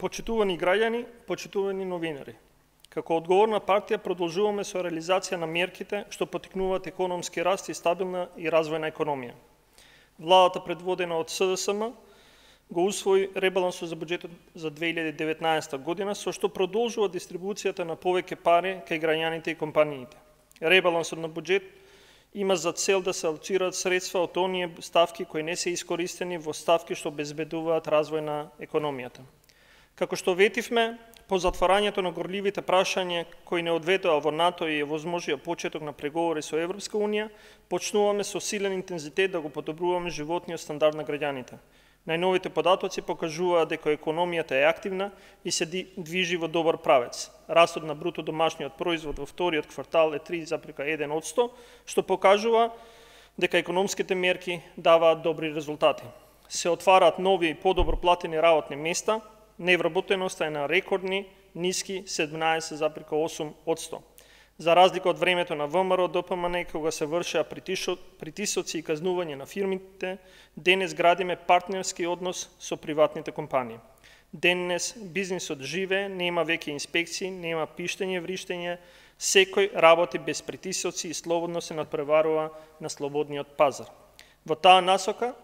Почитувани граѓани, почитувани новинари. Како одговорна партија продолжуваме со реализација на мерките што поттикнуваат економски раст и стабилна и развојна економија. Владата предводена од СДСМ го усвои ребалансот за буџетот за 2019 година, со што продолжува дистрибуцијата на повеќе пари кај граѓаните и компаниите. Ребалансот на буџет има за цел да се алоцираат средства од оние ставки кои не се искористени во ставки што обезбедуваат развој на економијата. Како што ветивме, по затварањето на горливите прашања кои не одведоа во НАТО и овозможија почеток на преговори со Европска Унија, почнуваме со силен интензитет да го подобруваме животниот стандард на граѓаните. Најновите податоци покажуваат дека економијата е активна и се движи во добар правец. Растот на бруто домашниот производ во вториот квартал е 3,1%, што покажува дека економските мерки даваат добри резултати. Се отвараат нови и подобро платени работни места, невработеноста е на рекордни ниски 17,8%. За разлика од времето на ВМРО ДПМН, кога се вршеа притисоци и казнување на фирмите, денес градиме партнерски однос со приватните компании. Денес бизнисот живее, нема веќе инспекции, нема пиштење, вриштење, секој работи без притисоци и слободно се надпреварува на слободниот пазар. Во таа насока,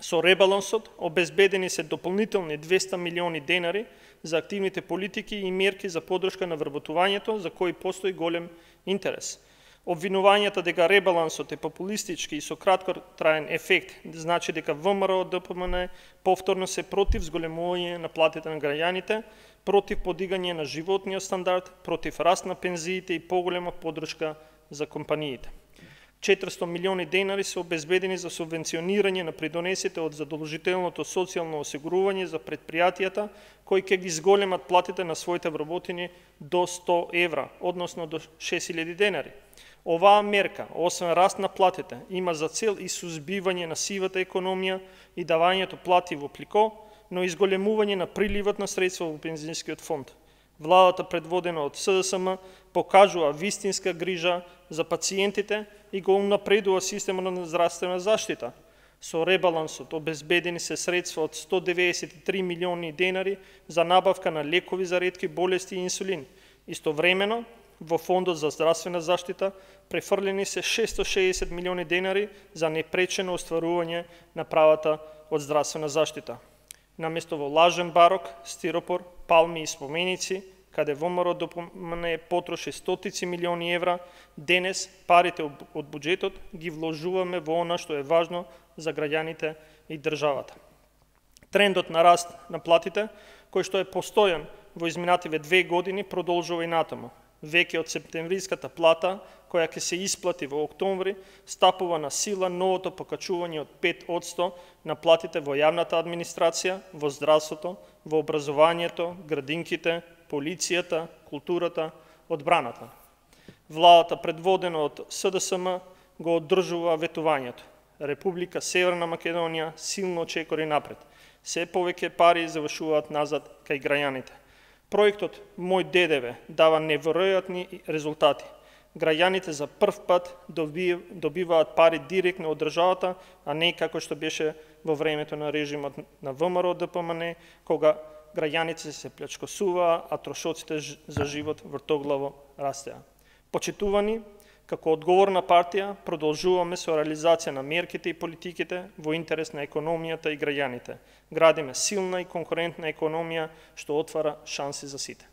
со ребалансот обезбедени се дополнителни 200 милиони денари за активните политики и мерки за поддршка на вработувањето, за кои постои голем интерес. Обвинувањата дека ребалансот е популистички и со краткотраен ефект, значи дека ВМРО ДПМН повторно се против зголемување на платите на граѓаните, против подигање на животниот стандард, против раст на пензиите и поголема поддршка за компаниите. 400 милиони денари се обезбедени за субвенционирање на придонесите од задолжителното социјално осигурување за предпријатијата, кои ќе ги зголемат платите на своите вработени до 100 евра, односно до 6000 денари. Оваа мерка, освен раст на платите, има за цел и сузбивање на сивата економија и давањето плати во плико, но и зголемување на приливот на средства во пензионскиот фонд. Владата предводена од СДСМ покажува вистинска грижа за пациентите и го унапредува системот на здравствена заштита. Со ребалансот обезбедени се средства од 193 милиони денари за набавка на лекови за ретки болести и инсулин. Истовремено, во Фондот за здравствена заштита префрлени се 660 милиони денари за непречено остварување на правата од здравствена заштита. Наместо во лажен барок, стиропор, палми и споменици, каде ВМРО ДПМН потроши стотици милиони евра, денес парите од буџетот ги вложуваме во она што е важно за граѓаните и државата. Трендот на раст на платите, кој што е постојан во изминативе 2 години, продолжува и натаму. Веќе од септемвриската плата, која ќе се исплати во октомври, стапува на сила новото покачување од 5% на платите во јавната администрација, во здравството, во образованието, градинките, полицијата, културата, одбраната. Владата предводена од СДСМ го одржува ветувањето. Република Северна Македонија силно чекори напред. Се повеќе пари завршуваат назад кај граѓаните. Проектот Мој ДДВ дава неверојатни резултати. Граѓаните за прв пат добиваат пари директно од државата, а не како што беше во времето на режимот на ВМРО ДПМН, кога граѓаните се плячкосуваа, а трошоците за живот вртоглаво растеа. Почитувани, како одговорна партија, продолжуваме со реализација на мерките и политиките во интерес на економијата и граѓаните. Градиме силна и конкурентна економија што отвара шанси за сите.